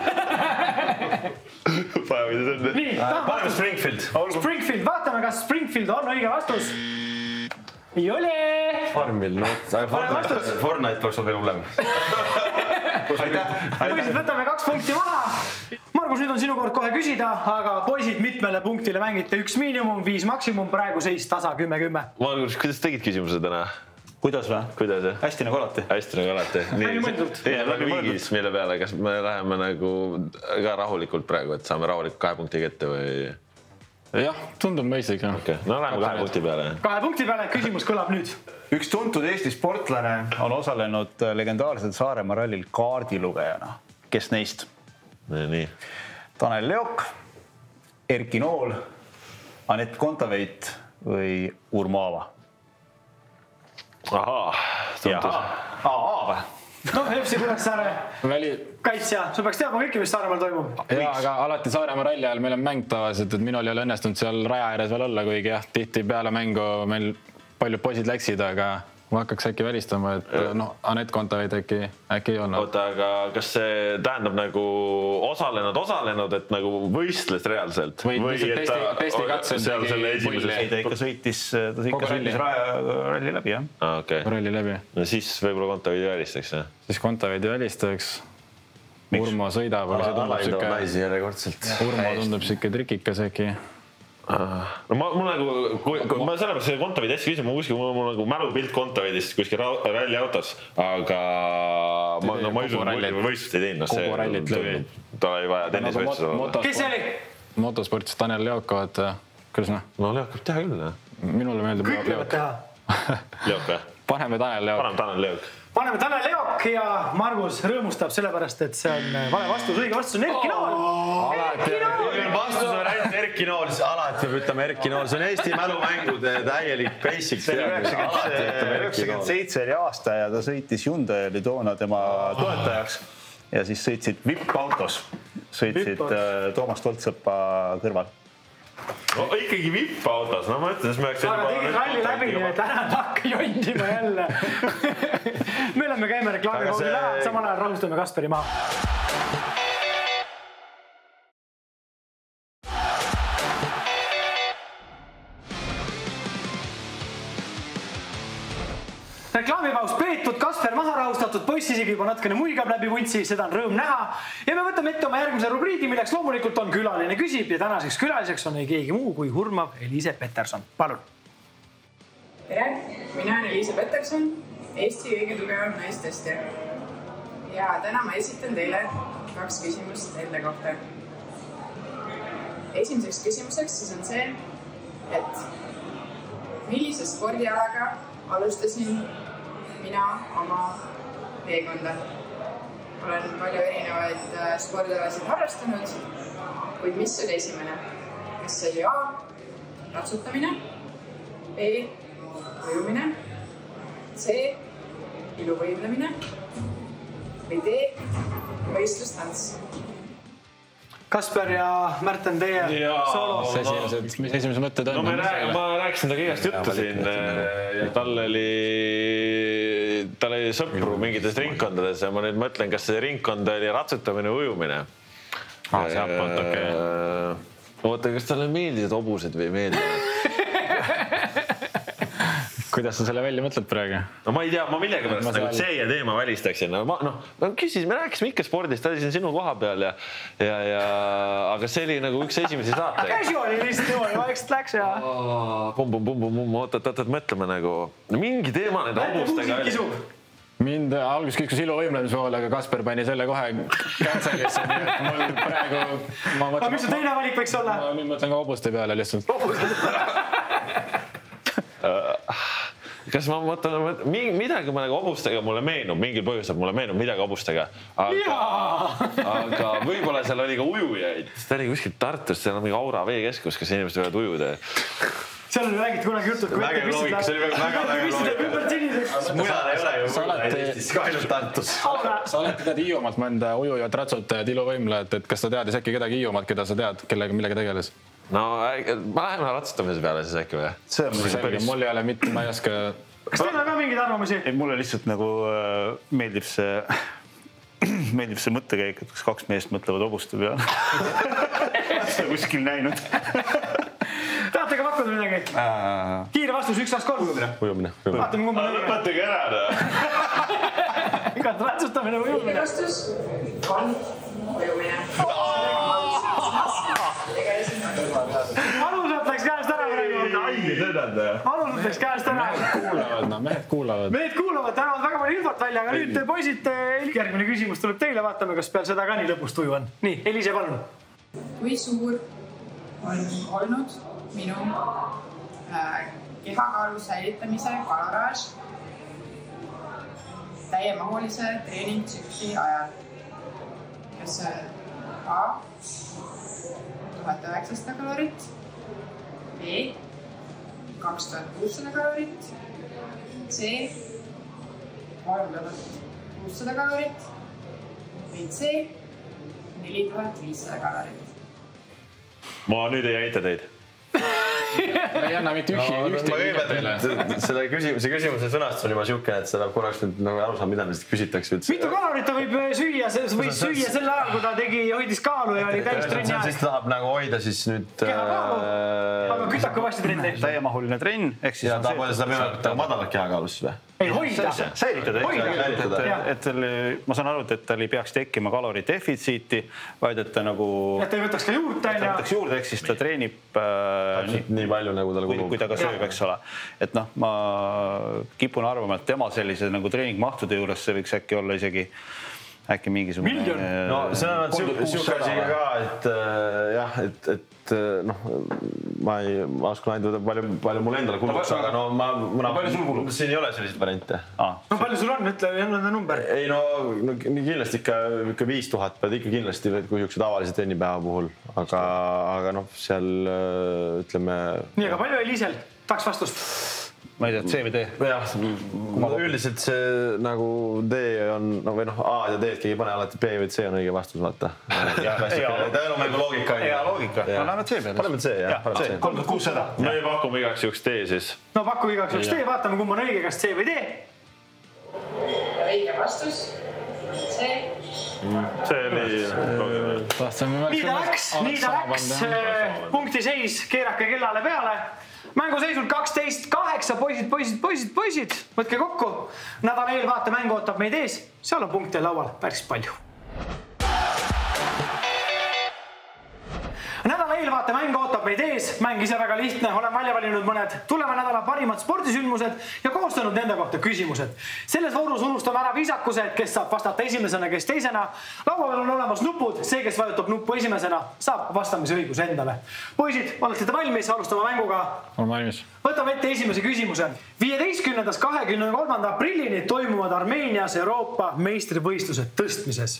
Nii, paneme Springfield. Springfield, vaatame, kas Springfield on õige vastus. Ei ole! Farmville, no, Fortnite, Fortnite peaks olla hullem. Poisid, võtame kaks punkti maha. Margus, nüüd on sinu kord kohe küsida, aga poisid mitmele punktile mängite üks miinimum, viis maksimum, praegu seis tasa kümme kümme. Margus, kuidas tegid küsimuse täna? Kuidas või? Kuidas, jah? Hästi nagu alati. Hästi nagu alati. Läbi mõeldud. Teie läbi viigis, mille peale, kas me läheme nagu ka rahulikult praegu, et saame rahulikult kahe punkti kätte või? Jah, tundub mõistlik. Okay. No läheme kahe punkti peale. Kahe punkti peale, küsimus kõlab nüüd. Üks tuntud Eesti sportlane on osalenud legendaarsel Saaremaa rallil kaardilugejana. Kes neist? Nii. Tanel Leok, Erki Nool, Anett Kontaveit või Urmo Aava? Ahaa, tuntus. Aa või? No, F C Kuressaare Väli... kaitsja, sa peaks teadma kõike, mis Saaremaal toimub. Jaa, aga alati Saaremaa ralli ajal meil on mäng tavaliselt, et minul ei ole õnnestunud seal raja ääres veel olla, kuigi jah, tihti peale mängu meil paljud poisid läksid, aga ma hakkaks äkki välistama, et noh, Anett Kontaveit äkki, äkki ei olnud. Oota, aga kas see tähendab nagu osalenud, osalenud, et nagu võistles reaalselt? Või, või et ta testi katsel seal selle esimeses? Ei, ta ikka sõitis, ta ikka sõitis ralli läbi, jah. Ah, okei. Okay. Ralli läbi. No siis võib-olla Kontaveidi välistaks, jah? Siis Kontaveidi välistaks. Urmo sõidab, aga see tundub siuke... naisi järjekordselt. Urmo tundub siuke trikikas äkki. No ma, mul nagu, kui, kui ma sellepärast see Kontaveidi hästi küsin, ma kuskil mul, mul nagu mälupilt Kontaveidist kuskil ralli autos, aga ma, no, ma ei usu, võistlust ei teinud. Kogu rallit läbi. Ta oli vaja tennisvõistlus olla. Kes see oli? Motosportis Tanel Leok, vaata, kuidas noh? No Leok võib teha küll, jah. Minule meeldib Kõik võivad teha. Leok, jah? Paneme Tanel Leok. Paneme Tanel Leok. Paneme Tanel Leok ja Margus rõõmustab sellepärast, et see on vale vastus. Õige vastus on Erki Nool. Erki Nool! Vastus on ainult Erki Nool, siis alati peab ütlema Erki Nool. See on Eesti mälumängude täielik basic. See oli üheksakümmend seitse oli aasta ja ta sõitis Hyundai, oli toona tema toetajaks ja siis sõitsid V I P-autos. Sõitsid Toomas Toltsõpa kõrval. No, ikkagi V I P-autos, no ma ütlen, siis me oleks... Aga tegid ralli läbi, et ära takka jondima jälle. Me oleme käime reklaami koogil ära, samal ajal rahustame Kasperi maha. Reklaamipaus peetud, Kasper maha rahustatud, poiss isegi juba natkene muigab läbi vuntsi, seda on rõõm näha. Ja me võtame ette oma järgmise rubriigi, milleks loomulikult on külaline küsib ja tänaseks külaliseks on ei keegi muu kui hurmav Eliise Peterson. Palun! Tere, mina olen Eliise Peterson, Eesti kõige tugevam naistestja. Ja täna ma esitan teile kaks küsimust enda kohta. Esimeseks küsimuseks siis on see, et millise spordialaga alustasin mina oma teekonda. Olen palju erinevaid spordialasid harrastanud, kuid mis oli esimene? Kas oli A, ratsutamine, B, ujumine, C, iluvõimlemine või D, võistlustants? Kasper ja Märten, teie soolos. Esimesed, mis esimesed mõtted on? No ma rääkisin ta kõigest juttu siin ja tal oli, tal oli sõpru mingites ringkondades ja ma nüüd mõtlen, kas see ringkond oli ratsutamine või ujumine. Ah, see appalt, okei. Oota, kas talle meeldisid hobused või meeldivad? Kuidas sa selle välja mõtled praegu? No ma ei tea, ma millega pärast nagu C ja teema välistaksin. No, ma, no, ma küsisin, me rääkisime ikka spordist, ta oli siin sinu koha peal ja, ja, ja aga see oli nagu üks esimesi saate. Casuali lihtsalt niimoodi, vaikselt läks ja... Pum, pum, pum, pum, pum, oot, oot, oot, mõtleme nagu... Mingi teema need hobustega... Mind algus kiskus iluvõimlemise poole, aga Kasper pani selle kohe cancelisse, nii et mul praegu... Aga mis su teine valik võiks olla? Ma nüüd mõtlen ka hobuste peale lihtsalt. kas ma mõtlen, midagi ma nagu hobustega mulle meenub, mingil põhjusel mulle meenub midagi hobustega. Aga, aga võib-olla seal oli ka ujujaid. Ta oli kuskil Tartus, seal on mingi Aura veekeskus, kas inimesed võivad ujuda. Seal oli räägid kunagi jutud, kui väga loogika, see oli väga, väga loogika. Mujal ei ole ju ujuda Eestis, ka ainult Tartus. Sa oled tead Hiiumaalt mõnda ujujad ratsutajad, iluvõimlejad, et kas sa teadis äkki kedagi Hiiumaalt, keda sa tead, kellega millega tegeles? No ma läheme ratsutamise peale siis äkki või? See on selge, mul ei ole mitte, ma ei oska... Kas teil on ka mingid arvamusi? Ei, mulle lihtsalt nagu meeldib see, meeldib see mõttekäik, et kaks meest mõtlevad hobuste peale. Seda kuskil näinud. Tahate ka pakkuda midagi? Kiire vastus, üks, kaks, kolm. Ujumine. Vaatame, kumma lõige. Lõpetage ära. Igat ratsustamine ujumine. Kiire vastus on ujumine. Alusalt läks käest ära praegu. Alusalt läks käest ära. Kuulavad, no mehed kuulavad. Mehed kuulavad, tänavad väga palju infot välja, aga nüüd poisid, järgmine küsimus tuleb teile, vaatame, kas peal seda ka nii lõpust uju on. Nii, Elise, palun. Kui suur on olnud minu kehakaalu säilitamise kaloraaž täiemahulise treeningtsükli ajal? Kas A tuhat üheksasada kalorit, B kaks tuhat kuussada kalorit, C kolm tuhat kuussada kalorit või C neli tuhat viissada kalorit. Ma nüüd ei aita teid. Ei anna mitte ühti teile. Selle küsimuse, küsimuse sõnastus on juba siukene, et seda korraks nüüd nagu aru saab, mida neist küsitakse üldse. Mitu kalorit ta võib süüa, või süüa sel ajal, kui ta tegi, hoidis kaalu ja oli täis trenni aeg? Siis ta tahab nagu hoida siis nüüd... Kehakaalu, aga kütaka vasti trenni. Täiemahuline trenn. Ja tahab hoida seda võimalikult madalat kehakaalus või? Ei, hoida. Säilitada. Et ma saan aru, et tal ei peaks tekkima kalori defitsiiti, vaid et ta nagu... Et ta ei võtaks ka juurde. Ta ei võtaks juurde, ehk siis ta treenib nii palju, nagu tal kulub. Kui ta ka sööb, eks ole. Et noh, ma kipun arvama, et tema sellise nagu treeningmahtude juures see võiks äkki olla isegi äkki mingisugune... Miljon? No see on siuke asi ka, et jah, et, et noh, ma ei oskan ainult palju, palju mul endale kuluks, aga no ma... Palju sul kulub? Siin ei ole selliseid variante. No palju sul on? Ütle, jälle on number. Ei no, kindlasti ikka viis tuhat pead ikka kindlasti, kui üks tavalise trennipäeva puhul, aga, aga noh, seal ütleme... Nii, aga palju Elisel? Tahaks vastust. Ma ei tea, C või D? Jah, üldiselt see nagu D on, või noh, A ja D keegi pane alati B või C on õige vastus, vaata. Tähenumängu loogika. Hea loogika. No lähme C peale. Paneme C, jah. kolm tuhat kuussada. Me pakume igaks juhuks D siis. No pakume igaks juhuks D, vaatame, kumb on õige, kas C või D. Õige vastus. C. See oli... Nii ta läks, nii ta läks. Punkti seis, keerake kellale peale. Mängu seisult kaksteist kaheksa, poisid, poisid, poisid, poisid. Võtke kokku. Nädala eelvaate mängu ootab meid ees. Seal on punkte laual päris palju. Nädala eelvaate mäng ootab meid ees. Mäng ise väga lihtne. Olen välja valinud mõned tuleva nädala parimad spordisündmused ja koostanud nende kohta küsimused. Selles voorus unustame ära viisakused, kes saab vastata esimesena, kes teisena. Laual on olemas nupud. See, kes vajutab nuppu esimesena, saab vastamise õigus endale. Poisid, olete te valmis? Alustame mänguga. Olen valmis. Võtame ette esimese küsimuse. viieteistkümnendast kahekümne kolmanda aprillini toimuvad Armeenias Euroopa meistrivõistlused tõstmises.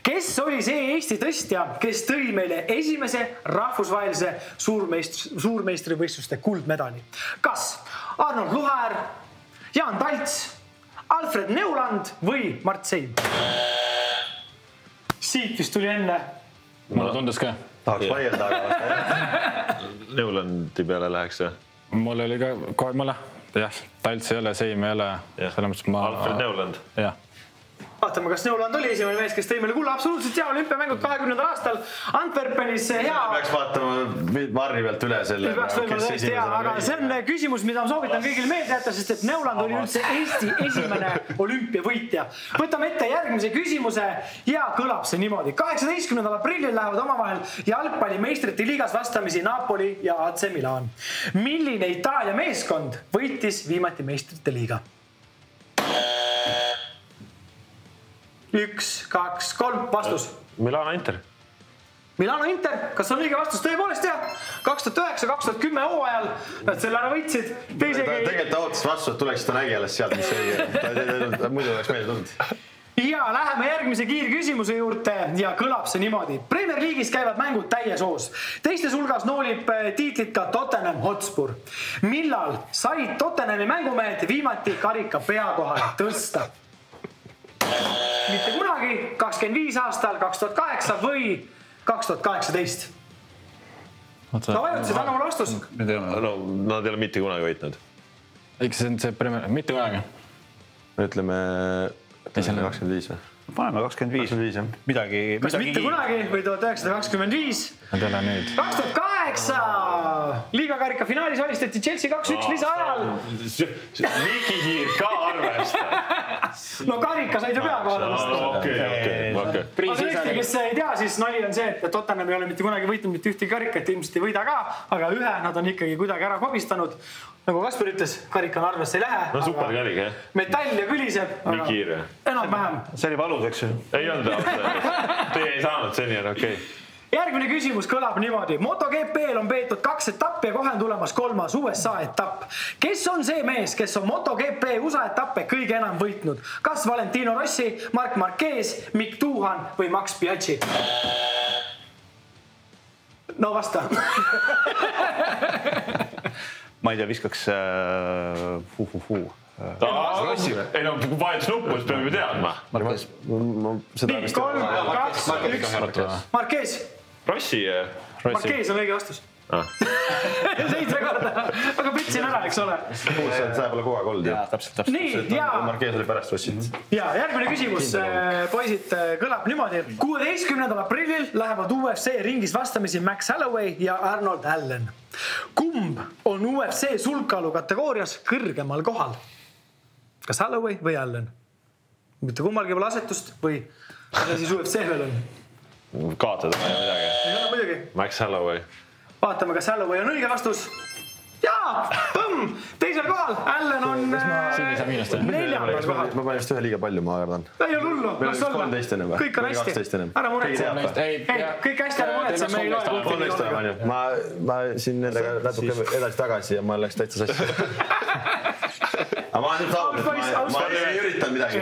Kes oli see Eesti tõstja, kes tõi meile esimese rahvusvahelise suurmeistri, suurmeistrivõistluste kuldmedali? Kas Arnold Luhaer, Jaan Talts, Alfred Neuland või Mart Seim? Siit vist tuli enne. Mulle tundus ka. Tahaks vaielda, aga... Neulandi peale läheks või? Mul oli ka kohe mõle. Jah, Talts ei ole, Seim ei ole. Ma... Alfred Neuland. Jah. Vaatame, kas Neuland oli esimene mees, kes tõi meile kulla. Absoluutselt hea olümpiamängud kahekümnendal aastal. Antwerpenis hea... Peaks vaatama Marri pealt üle selle. Peaks võimalik tõesti hea, aga see on küsimus, mida ma soovitan kõigil meelde jätta, sest et Neuland oli üldse Eesti esimene olümpiavõitja. Võtame ette järgmise küsimuse ja kõlab see niimoodi. kaheksateistkümnendal aprillil lähevad omavahel jalgpalli meistrite liigas vastamisi Napoli ja A C Milan. Milline Itaalia meeskond võitis viimati meistrite liiga? Üks, kaks, kolm, vastus. Milano Inter. Milano Inter, kas on õige vastus? Tõepoolest jah, kaks tuhat üheksa kaks tuhat kümme hooajal nad selle ära võitsid. Tegelikult ta ootas vastu, et tuleks ta nägi alles sealt, mis õige. Muidu oleks meile tulnud. Ja läheme järgmise kiirküsimuse juurde ja kõlab see niimoodi. Premier League'is käivad mängud täies hoos. Teistes hulgas noolib tiitlit ka Tottenham Hotspur. Millal said Tottenhami mängumehed viimati karika peakohale tõsta? Mitte kunagi, kakskümmend viis aastal, kaks tuhat kaheksa või kaks tuhat kaheksateist. No vajutasid, anna mulle vastus. No, nad ei ole mitte kunagi võitnud. Eks see on see Premier, mitte kunagi. Me ütleme kakskümmend viis või? Paneme kakskümmend viis. Midagi, kas midagi... mitte kunagi või tuhat üheksasada kakskümmend viis? Nad ei ole nüüd. kaks tuhat kaheksa! Liigakarika finaalis alistati Chelsea kaks üks lisaajal. Miki Kiir ka arvesta. No karika said ju peakohale tõsta. Okei, okei, okei. Aga tõesti, kes ei tea, siis nali on see, et Tottenham ei ole mitte kunagi võitnud mitte ühtegi karikat, ilmselt ei võida ka, aga ühe nad on ikkagi kuidagi ära kobistanud. Nagu Kasper ütles, karika on arvesse ei lähe. No super karik, jah. Metall ja kõliseb. Nii kiire. Enam vähem. See oli valus, eks ju? Ei olnud ausalt. Teie ei saanud, seni on okei. Järgmine küsimus kõlab niimoodi. MotoGP-l on peetud kaks etappi ja kohe on tulemas kolmas U S A etapp. Kes on see mees, kes on MotoGP U S A etappe kõige enam võitnud? Kas Valentino Rossi, Marc Marquez, Mick Tuhan või Max Biaggi? No vasta. Ma ei tea, viskaks hu-hu-hu. Ei no, vahetus nuppu, siis peame teadma. Marquez. Nii, kolm, kaks, üks. Marquez. Rossi. Marquez on õige vastus. Seitse korda. Aga pitsin ära, eks ole. See pole kogu aeg olnud. Jaa, täpselt, täpselt. Nii, ja... Marquez oli pärast Rossit. Ja järgmine küsimus, poisid, kõlab niimoodi. kuueteistkümnendal aprillil lähevad U F C ringis vastamisi Max Holloway ja Arnold Allen. Kumb on U F C sulgkaalu kategoorias kõrgemal kohal? Kas Holloway või Allen? Mitte kummalgi pole asetust või mida siis U F C veel on? Kaotada või midagi. Ei ole muidugi. Max Holloway. Vaatame, kas Holloway on õige vastus. Jaa, põmm, teisel kohal. Allen on neljandal kohal. Ma panin vist ühe liiga palju, ma arvan. Ei ole hullu. Meil oli kolmteist enne või? Kõik on hästi. Ära muretse. Ei, kõik hästi ära muretse. Me ei loe kolmteist enne. Ma siin nendega natuke edasi tagasi ja ma läks täitsa sassi. Aga ma olen nüüd saanud, ma ei üritanud midagi.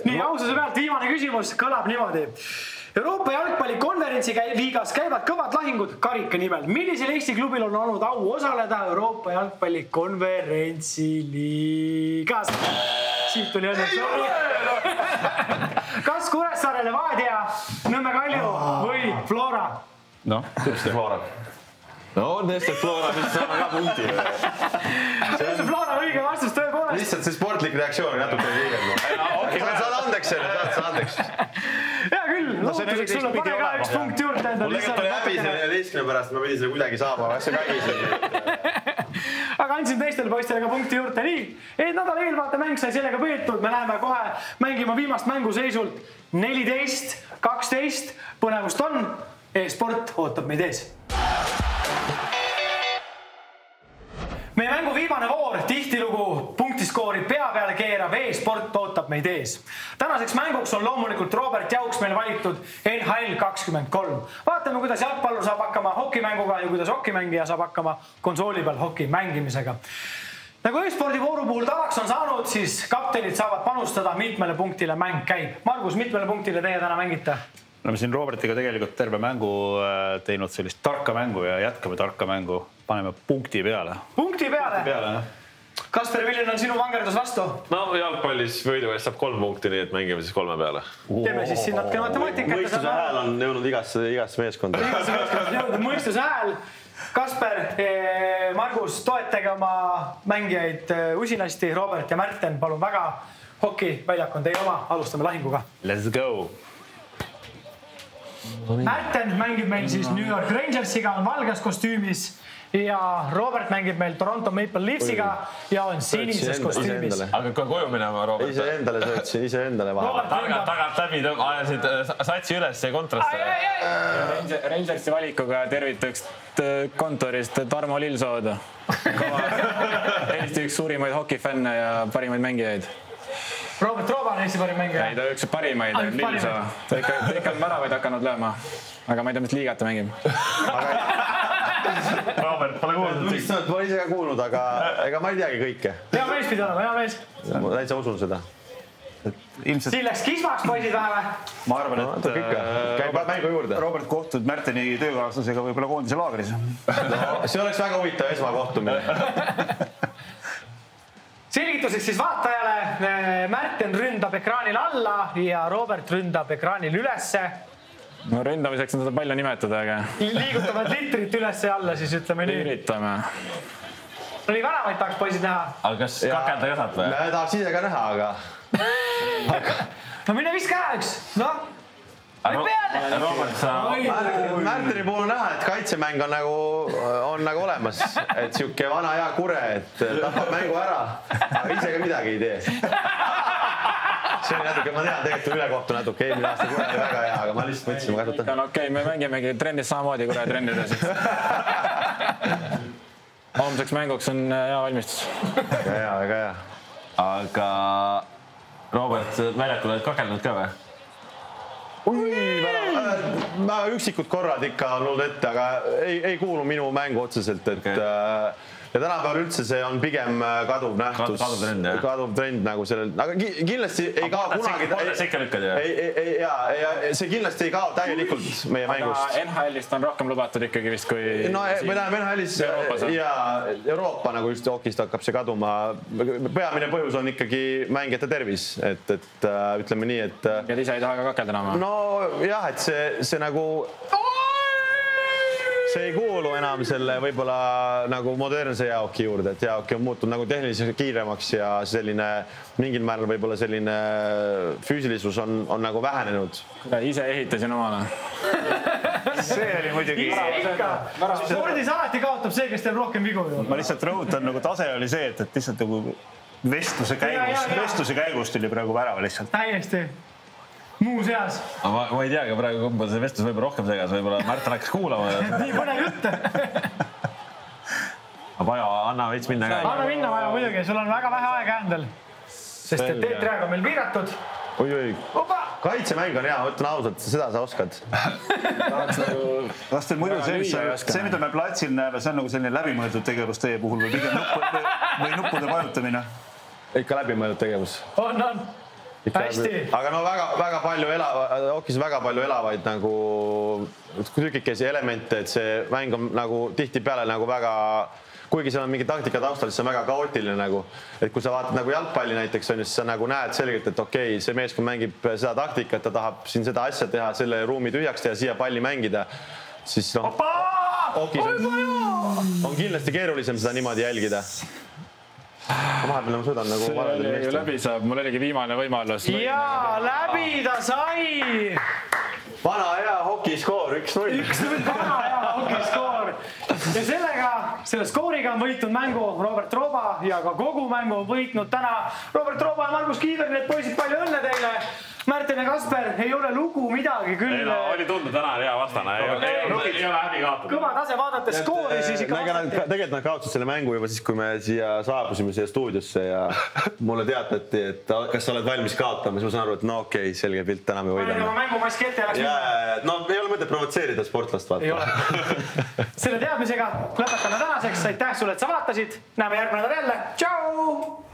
Nii, aususe pealt viimane küsimus kõlab niimoodi. Euroopa jalgpallikonverentsi liigas käivad kõvad lahingud karika nimel. Millisel Eesti klubil on olnud au osaleda Euroopa jalgpallikonverentsi liigas? Siit tuli õnneks. Kas Kuressaare Levadia, Nõmme Kalju või Flora? Noh, tõesti Flora. No on Eesti Flora, mis saame ka punkti. See on Flora õige vastus, tõepoolest. Lihtsalt see sportlik reaktsioon on natuke liigelnud. Saad andeks selle, saad andeks. Hea küll, lootuseks sulle pane ka üks punkt juurde. Mul tegelikult oli häbi selle neljateistkümne pärast, ma pidin selle kuidagi saama, aga see kägis. Aga andsin teistele poistele ka punkti juurde. Nii, et nädal eelvaate mäng sai sellega peetud. Me läheme kohe mängima viimast mänguseisult neliteist kaksteist. Põnevust on, e-sport ootab meid ees. Meie mängu viimane voor, tihtilugu punktiskoori pea peale keerav e-sport ootab meid ees. Tänaseks mänguks on loomulikult Robert Jauks meil valitud N H L kakskümmend kolm. Vaatame, kuidas jalgpallur saab hakkama hokimänguga ja kuidas hokimängija saab hakkama konsooli peal hoki mängimisega. Nagu e-spordi vooru puhul tavaks on saanud, siis kaptenid saavad panustada, mitmele punktile mäng käib. Margus, mitmele punktile teie täna mängite? Oleme siin Robertiga tegelikult terve mängu teinud sellist tarka mängu ja jätkame tarka mängu. Paneme punkti peale. Punkti peale? peale Kasper, milline on sinu vangerdus vastu? No jalgpallis võidu eest saab kolm punkti, nii et mängime siis kolme peale. Teeme siis siin natuke matemaatikat. Mõistuse hääl on jõudnud igasse, igasse meeskonda. Igasse meeskonda jõudnud mõistuse hääl. Kasper, Margus, toetage oma mängijaid usinasti. Robert ja Märten, palun väga. Hoki väljak on teie oma. Alustame lahinguga. Let's go! Märten mängib meil siis New York Rangersiga, on valges kostüümis ja Robert mängib meil Toronto Maple Leafsiga ja on sinises kostüümis. Aga koju minema, Robert? Ise endale söötsin, ise endale vahel. Tagant, tagant läbi ajasid satsi üles ja kontraste. Rangersi valikuga tervitaks kontorist Tarmo Lillsooda. Eesti üks suurimaid hokifänne ja parimaid mängijaid. Robert Rooba on Eesti parim mängija. ei, ta üks parimaid. Lilsa. Ta ikka, ta ikka on väravaid hakanud lööma. Aga ma ei tea, mis liigat ta mängib. Robert, pole kuulnud. Ma olen ise ka kuulnud, aga ega ma ei teagi kõike. Hea mees pidi olema, hea mees. Ma täitsa usun seda. Ilmselt... Siin läks kismaks poisid vähe. Ma arvan, et käib mängu juurde. Robert kohtud Märteni töökaaslasega võib-olla koondise laagris. No, see oleks väga huvitav esmakohtumine. Selgituseks siis vaatajale. Märten ründab ekraanil alla ja Robert ründab ekraanil ülesse. No ründamiseks on seda palju nimetada, aga... Liigutavad litrit ülesse ja alla, siis ütleme nii. Üritame. No nii väravaid tahaks poisid näha. Aga kas kakelda ei osad või? Me tahaks ise ka näha, aga... No mine viska ära üks. Noh. Või peale. Robert, sa... Märteni puhul on näha, et kaitsemäng on nagu, on nagu olemas. Et siuke vana hea kure, et tapab mängu ära. Aga ise ka midagi ei tee. See oli natuke, ma tean, tegelikult ülekohtu natuke eelmine aasta kure oli väga hea, aga ma lihtsalt mõtlesin, ma kasutan. No okei, me mängimegi trennis samamoodi kure trennides. Homseks mänguks on hea valmistus. Väga hea, väga hea. Aga Robert, väljakul oled kakelnud ka või? Ui, ma üksikud korrad ikka on olnud ette, aga ei, ei kuulu minu mängu otseselt, et okay. Ja tänapäeval üldse see on pigem kaduv nähtus. Kaduv trend, jah. Kaduv trend nagu sellel, aga kindlasti ei kao kunagi. Sekka lükkad, jah? Ei, ei, jaa, ja see kindlasti ei kao täielikult meie mängust. Aga N H L-ist on rohkem lubatud ikkagi vist kui... No me näeme N H L-is ja Euroopa nagu just hokist hakkab see kaduma. Peamine põhjus on ikkagi mängijate tervis, et, et ütleme nii, et... Ja ise ei taha ka kakelda enam? No jah, et see, see nagu... See ei kuulu enam selle võib-olla nagu modernse jäähoki juurde, et jäähoki on muutunud nagu tehniliselt kiiremaks ja selline mingil määral võib-olla selline füüsilisus on, on nagu vähenenud. Ise ehitasin omale. See oli muidugi... Spordis alati kaotab see, kes teeb rohkem vigu. Ma lihtsalt rõhutan, nagu tase oli see, et, et lihtsalt nagu vestluse käigus, vestluse käigus tuli praegu värava lihtsalt. Täiesti. Muus eas. Ma, ma ei tea, aga praegu kumba see vestlus võib-olla rohkem segas, võib-olla Märten hakkas kuulama. Nii põnev jutt. Vaja, anna veits minna ka. Anna minna vaja muidugi, sul on väga vähe aega händel. Sest et teetriaeg on meil piiratud. Oi, oi. Kaitsemäng on hea, ütlen ausalt, seda sa oskad. Kas teil muidu see, see, mida me platsil näeme, see on nagu selline läbimõeldud tegevus teie puhul või pigem nuppude, või nuppude vajutamine? Ikka läbimõeldud tegevus. On, on. Hästi. Aga no väga, väga palju elava, hokis väga palju elavaid nagu tükikesi elemente, et see mäng on nagu tihti peale nagu väga, kuigi seal on mingi taktika taustal, siis see on väga kaootiline nagu, et kui sa vaatad nagu jalgpalli näiteks on, siis sa nagu näed selgelt, et okei, see meeskond mängib seda taktikat, ta tahab siin seda asja teha, selle ruumi tühjaks teha, siia palli mängida, siis noh, hokis on, on kindlasti keerulisem seda niimoodi jälgida. Vahepeal ma suudan nagu varadel meestel. Läbi saab, mul oligi viimane võimalus. Jaa, läbi ta sai! Vana hea hokiskoor, üks null. üks null, vana hea hokiskoor. Ja sellega, selle skooriga on võitnud mängu Robert Rooba ja ka kogu mängu on võitnud täna Robert Rooba ja Margus Kiiver, need poisid, palju õnne teile! Märten ja Kasper, ei ole lugu midagi küll. Ei no, oli tundnud täna hea vastane. Ei ole häbi kaotud. Kõva tase vaadates skoori, siis ikka vastati. Tegelikult nad kaotasid selle mängu juba siis, kui me siia saabusime siia stuudiosse ja mulle teatati, et kas sa oled valmis kaotama, siis ma saan aru, et no okei, selge pilt, täna me võidame. Ma mängumaski ette läks minna. No ei ole mõtet provotseerida sportlast, vaata. Ei ole. Selle teadmisega lõpetame tänaseks. Aitäh sulle, et sa vaatasid. Näeme järgmine nädal jälle. Tšau!